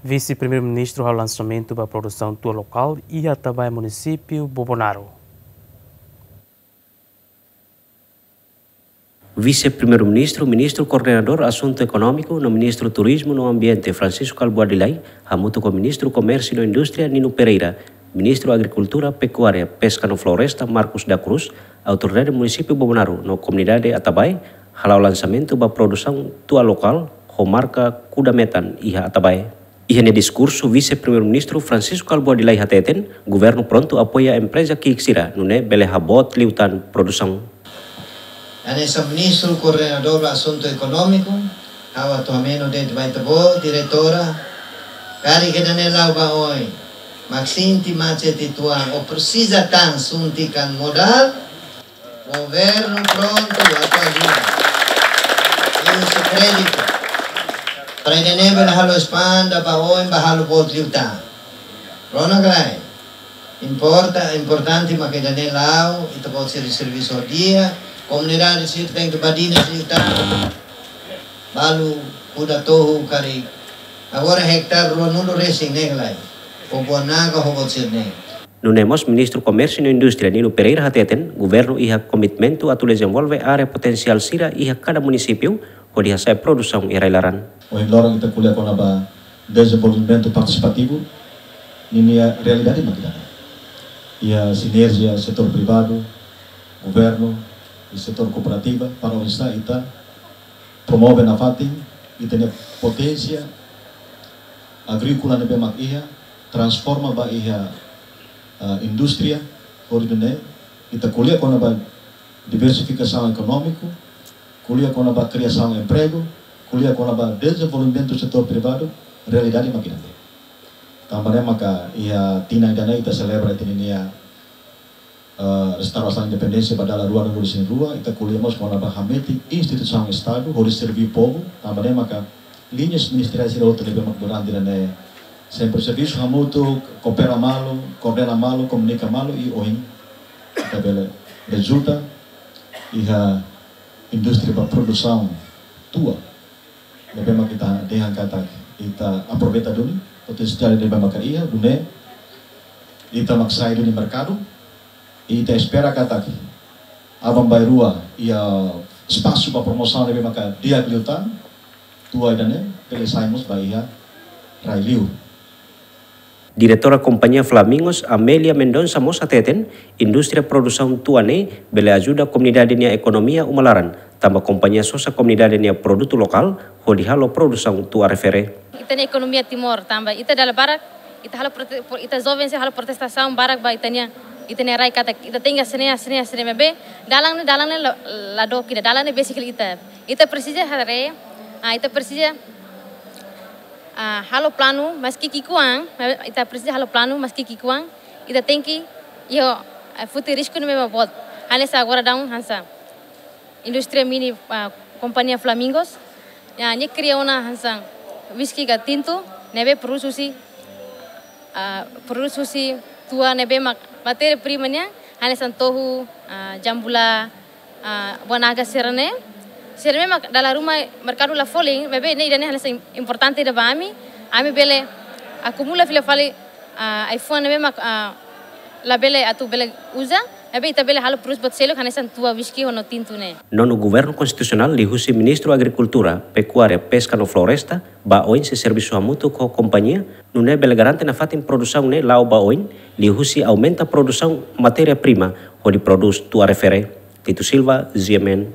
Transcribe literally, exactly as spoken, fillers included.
Vise-Primeiru-Ministru halo lansamentu ba produsaun tua lokál iha Atabae, munisípiu Bobonaro. Vise-Primeiru-Ministru, Ministru Koordenadór Asuntu Ekonómiku no Ministru Turizmu no Ambiente, Francisco Albuadilai, hamutuk ho Ministru Komérsiu no Indústria, Nino Pereira, Ministru Agrikultura, Pekuária, Peska no Floresta, Marcos da Cruz, autoridade munisípiu Bobonaro no komunidade Atabae, hala'o lansamentu ba produsaun tua lokál ho marka Kuda Metan iha Atabae. Iha nia diskursu, Vise-Primeiru-Ministru Francisco Albuadilai hateten, governu prontu apoia empreza ki'ik sira nune'e bele haboot liután produsaun. Hanesan Ministru Koordenadór Asuntu Ekonómiku, ha'u atu hameno de'it ba ita-boot, diretora, karik ida-ne'e la'o ba oin, mak sente macet uitoan, ou presiza tan suntikan modál, governu prontu atu ajuda. Liuhusi kréditu. Para ida-ne'e bele halo espanda ba oin, ba halo boot liután. Rona ka lae. Importa, importante mak ida-ne'e la'o, ita-boot sira servisu di'ak, komunidade sira tenke badinas liután. Balu kuda tohu karik. Agora ektare ruanulu resin ne'e ka lae. Ho buah naga ho boot sira-ne'e. Nune'e mós Ministru Komérsiu no Indústria Nino Pereira hateten, governu iha komitmentu atu dezenvolve área potensiál sira iha kada munisípiu, hodi hasa'e produsaun iha rai-laran. Ohin loron ita ko'alia kona-ba dezenvolvimentu partisipativu, ninia realidade mak ida-ne'e. Iha sinerjia setór privadu, governu, i setór kooperativa, para oinsá ita promove nafatin ita-nia poténsia agríkola ne'ebé mak iha, transforma ba iha, ah, indústria, hodi nune'e ita ko'alia kona-ba diversifikasaun ekonómiku, ko'alia kona-ba kriasaun empregu, ko'alia kona-ba dezenvolvimentu setór privadu, realidade mak ida-ne'e. Tanba ne'e maka iha tinan ida-ne'e ita selebra ita-nia, eh, restaurasaun independénsia ba dala ruanulu-resin-rua, ita ko'alia mós kona-ba hametin instituisaun Estadu hodi serví povu, tanba ne'e maka liñas ministeriais sira hotu ne'ebé mak durante ida-ne'e sempre servisu hamutuk, koopera malu, koordena malu, komunika malu, i ohin ita bele rezulta iha indústria ba produsaun tua. Ne'ebé mak ita dehan katak ita aproveita duni potensiál ne'ebé maka iha, nune'e ita mak sai duni merkadu, i ita espera katak aban-bainrua iha espasu ba promosaun ne'ebé maka di'ak liután, tua ida-ne'e bele sai mós ba iha rai-li'ur. Diretora Kompañia Flamingos, Amélia Mendonça mós hateten, indústria produsaun tua ne'e bele ajuda komunidade nia ekonomia uma laran, tanba kompañia sosa komunidade nia produtu lokál, hodi halo produsaun tua refere. Ita-nia ekonomia Timor, tanba ita dala barak, ita halo prote-, pro-, ita joven sira halo protestasaun barak ba ita-nia, ita-nia rai katak, ita tenke hanesan ne'e, hanesan ne'e, hanesan ne'e maibé, dalan ne'e, dalan ne'e la, la dook ida, dalan ne'e besik hela ita. Ita presiza haree, ah, ita presiza, ah, halo planu, maski ki'ikoan, ita presiza halo planu, maski ki'ikoan, ita tenke, iha, ah, foti risku ne'ebé mak boot. Hanesan agora daudaun hanesan indústria mini, ah, kompañia Flamingos, ya, nia kria ona hanesan uíske ka tintu, ne'ebé produsu husi, ah, produsu husi tua ne'ebé mak matéria prima nian, hanesan tohu, ah, jambula, ah, buah naga sira-ne'e. Sira-ne'e mak dala ruma merkadu la folin, maibé ne'e ida-ne'e hanesan importante ida ba ami, ami bele akumula fila fali, ah, ai-fuan ne'ebé mak, ah, labele atu bele uza, maibé ita bele halo produsu buat seluk hanesan tua, uíske ho no tintu ne'e. Nonu Governu Konstitusionál liuhusi Ministru Agrikultura, Pekuária, Peska no Floresta, ba oin sei servisu hamutuk ho kompañia, nune'e bele garante nafatin produsaun ne'e la'o ba oin, liuhusi aumenta produsaun matéria prima, hodi produs tua refere. Tito Silva, G M N,